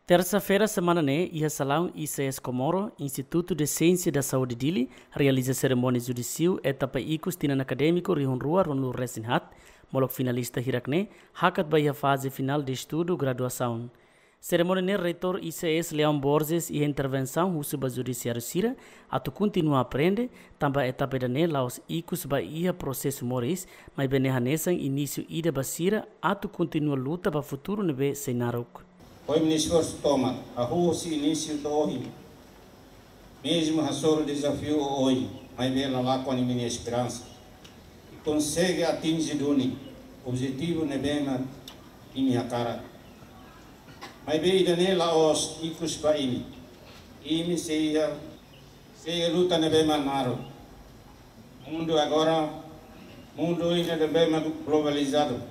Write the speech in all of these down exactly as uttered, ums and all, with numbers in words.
Tersa-feira semana ne'e, iha salaun I C S Comoro, Instituto de Ciência da Saúde Dili, realiza serimónia judisiu etapa ikus tinan akadémiku rihun rua ruanulu resin haat, molok finalista hirak ne'e hakat ba iha faze finál de estudu graduasaun. Serimónia ne'e Reitór I C S Leão Borges iha intervensaun husu ba judisiáriu sira atu kontinua aprende, tanba etapa ida-ne'e la'ós ikus ba iha prosesu moris, maibé ne'e hanesan inísiu ida ba sira atu kontinua luta ba futuru ne'ebé sei naruk. Foin esforsu tomak, hahú husi inísiu to'o ohin. Mezmu hasoru dezafiu oioin, maibé la lakon imi-nia esperansa. I konsege atinje duni objetivu ne'ebé mak imi hakarak. Maibé ida-ne'e la'ós ikus ba imi. Imi sei iha, sei iha luta ne'ebé mak naruk. Mundu agora, mundu ida ne'ebé mak globalizadu.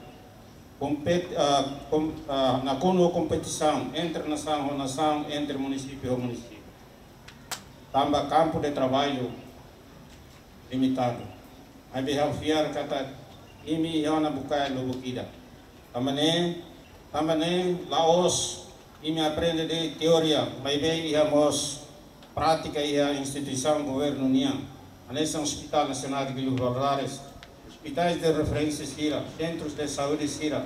Kompet-, ah, kom-, ah, nakonu kompetisaun entre nasaun ho nasaun, entre munisípiu ho munisípiu. Tanba kampu de traballu limitadu. Maibé ha'u fiar katak imi iha ona bukae lubuk ida. Tanba ne'e, tanba ne'e la'ós imi aprende de'it teoria, maibé iha mós prátika iha instituisaun governu nian, hanesan Hospital Nacional de Guido Valadares, hospitais de referência sira, centros de saúde sira,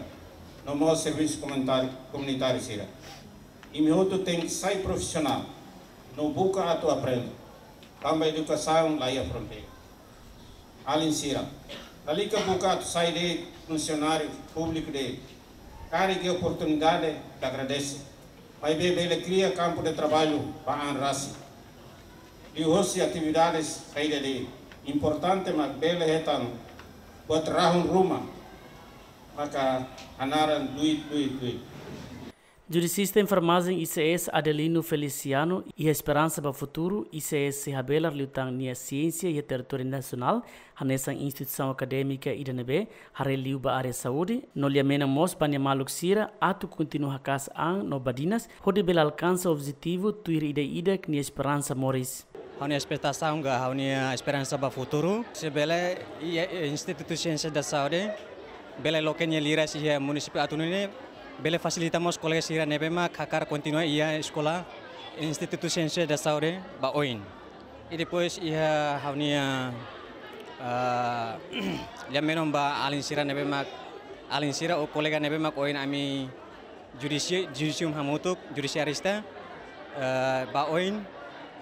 no mós servisu komunitáriu, komunitáriu sira. Imi hotu tenke sai profisionál, no buka atu aprende. Tanba edukasaun la iha fronteira. Alin sira, lalika buka atu sai de'it funsionáriu públiku de'it. Karik iha oportunidade, ita agradese. Maibé bele kria kampu de traballu ba an rasik. Liuhosi atividades saida de'it. Importante mak bele hetan buat rahun ruma, maka hanaran duit, duit, duit. Judisista enfermajen I C S Adelino Feliciano iha esperansa ba futuru I C S sei habelar liután nia siénsia iha territóriu nasionál, hanesan instituisaun akadémika ida ne'ebé haree liu ba área saúde, no lia menon mós ba nia maluk sira atu kontinua haka'as an no badinas, hodi bele alkansa objetivu tuir ida-idak nia esperansa moris. Ha'u-nia espetasaun ka ha'u-nia esperansa ba futuru, se bele, i, i, Instituto Ciência da Saúde bele loke nia liras iha munisípiu Atunu ne'e, bele fasilita mós kolega sira ne'ebé mak hakarak kontinua iha eskola Instituto Ciência da Saúde ba oin. I depois iha ha'u-nia, ah, lia menon ba alin sira ne'ebé mak, alin sira ou kolega ne'ebé mak oin ami judisi-, judisium hamutuk, judisiarista, eh, ba oin,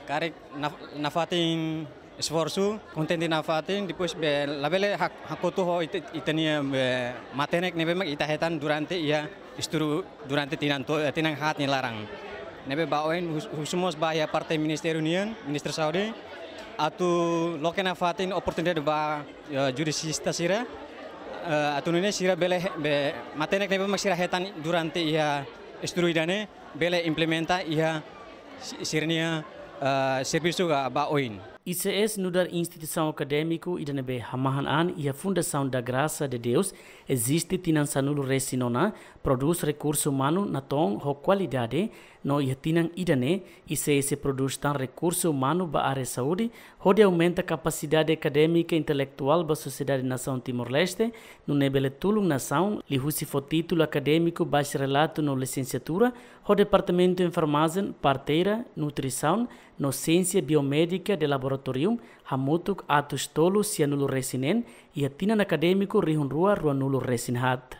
karik naf-, nafatin esforsu, kontente nafatin, depois be labele hak-, hakotu ho ita, ita-nia be matenek ne'ebé mak ita hetan durante iha estudu durante tinan to-, eh, tinan haat nia laran. Ne'ebé ba oin hus-, husu mós ba iha parte ministériu nian, Ministériu Saúde, atu loke nafatin oportunidade ba, eh, judisista sira, eh, atu nune'e sira bele he-, be matenek ne'ebé mak sira hetan durante iha estudu ida-ne'e, bele implementa iha si-, sira-nia, eh, servisu ka ba oin. I C S nu'udar instituisaun akadémiku ida ne'ebé hamahan an iha Fundação da Graça de Deus, eziste tinan sanulu resin ona, prodús rekursu umanu natoon ho kualidade, no iha tinan ida-ne'e, I C S prodús tan rekursu umanu ba área saúde, hodi aumenta kapasidade akadémika intelektuál ba sosiedade nasaun Timor-Leste, nune'e bele tulun nasaun, liuhusi fó títulu akadémiku bacharelatu no lisensiatura, ho departamentu enfermajen, parteira, nutrisaun, no siénsia biomédika de laboratóriu, hamutuk atus tolu sianulu resin neen, iha tinan akadémiku rihun rua ruanulu resin haat.